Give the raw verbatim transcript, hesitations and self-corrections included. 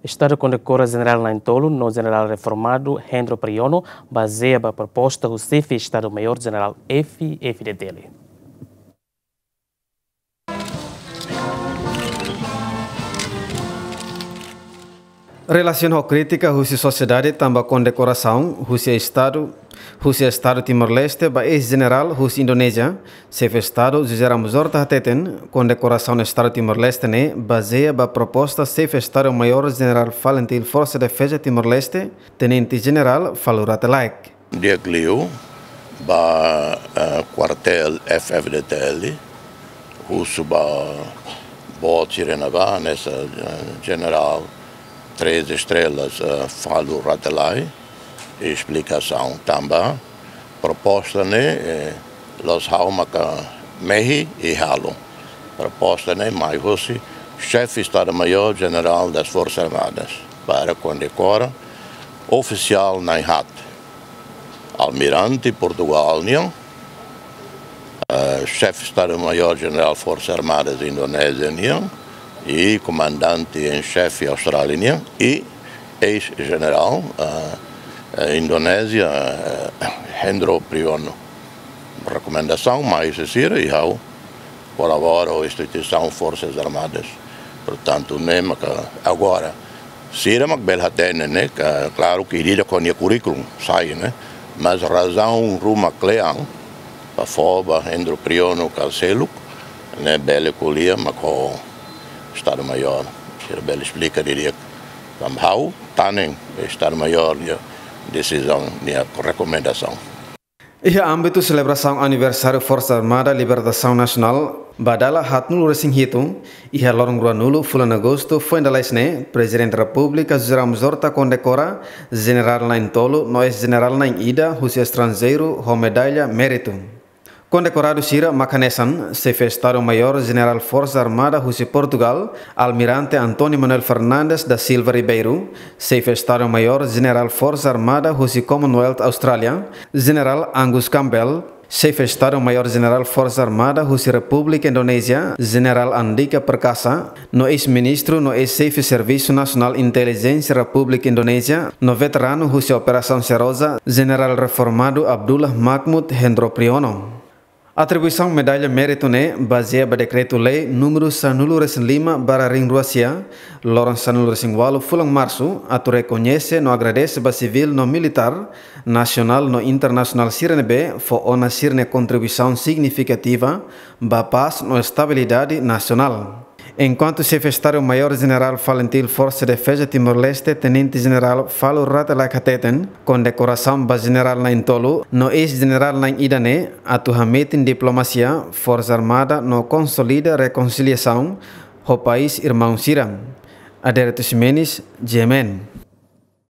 Estadu kondekora Jenerál Na'in-Tolu no Jenerál Reformadu Hendro Priyono, bazeia ba proposta husi Xefe Estadu Maiór Jenerál F-FDTL. Relasiona ho krítika husi sosiedade tanba kondekorasaun husi Estadu, husi Estadu Timor-Leste ba eis-jenerál husi Indonézia, Xefe Estadu José Ramos Horta hateten, kondekorasaun Estadu Timor-Leste ne'e bazeia ba proposta Xefe Estadu Maiór Jenerál FALINTIL Forsa Defeza Timor-Leste, Tenente Jenerál Falur Rate Laek. Di'ak liu ba, eh, kuartél F-FDTL, husu ba boot sira ne'ebá, hanesan, eh, Jenerál Três Estrelas, eh, Falur Rate Laek, esplikasaun tanba proposta ne'e, eh, la'ós ha'u maka mehi i halo. Proposta ne'e mai husi Xefe Estadu Maiór Jenerál das Forças Armadas, para kondekora ofisiál na'in-haat. Almirante Portugál nian, eh, Xefe Estadu Maiór Jenerál Forças Armadas Indonézia nian, i Komandante em Xefe Austrália nian, i eis-jenerál, eh, eh, Indonézia, eh, Hendro Priyono. Rekomendasaun mai husi sira i ha'u kolabora ho instituisaun Forças Armadas. Portantu, ne'e maka agora, sira mak bele hatene, ne'e, ka, klaru ke ida-idak ho nia kurríkulu sai, ne'e. Mas razaun ruma kle'an, ba fó ba Hendro Priyono ka seluk, ne'e bele ko'alia mak ho Estadu Maiór. Sira bele esplika didi'ak. Tanba ha'u, tanen Estadu Maiór nia desizaun, nia rekomendasaun. Iha ámbitu selebrasaun aniversáriu Forsa Armada Libertasaun Nasionál ba dala haatnulu-resin-hitu, iha loron ruanulu fulan Agostu foin dala ida ne'e, Prezidente Repúblika José Ramos Horta kondekora Jenerál Na'in-Tolu no eis-jenerál na'in-ida husi estranjeiru ho medalla méritu. Kondekoradu sira mak hanesan Xefe Estadu Maiór Jenerál Forsa Armada husi Portugál, Almirante António Manuel Fernandes da Silva Ribeiro, Xefe Estadu Maiór Jenerál Forsa Armada husi Commonwealth Austrália, Jenerál Angus Campbell, Xefe Estadu Maiór Jenerál Forsa Armada husi Repúblika Indonézia, Jenerál Andika Perkasa, no eis-ministru no eis-xefe Servisu Nasionál Intelijénsia Repúblika Indonézia, no veteranu husi Operasaun Seroja, Jenerál Reformadu Abdullah Mahmud Hendro Priyono. Atribuisaun medalla méritu ne'e bazeia ba Dekretu-Lei númeru sanulu-resin-lima barra ringrua sia, loron sanulu-resin-ualu fulan Marsu, atu rekoñese no agradese ba sivíl no militár, nasionál no internasionál sira ne'ebé fó ona sira-nia kontribuisaun signifikativa ba pás no estabilidade nasionál. Enkuantu Xefe Estadu Maiór Jenerál FALINTIL Forsa Defeza Timor-Leste, Tenente Jenerál Falur Rate Laek hateten, kondekorasaun ba Jenerál Na'in-Tolu no eis-jenerál na'in-ida ne'e atu hametin diplomasia, Forsa Armada no konsolida rekonsiliasaun ho país irmaun sira. Adérito Ximenes, G M N.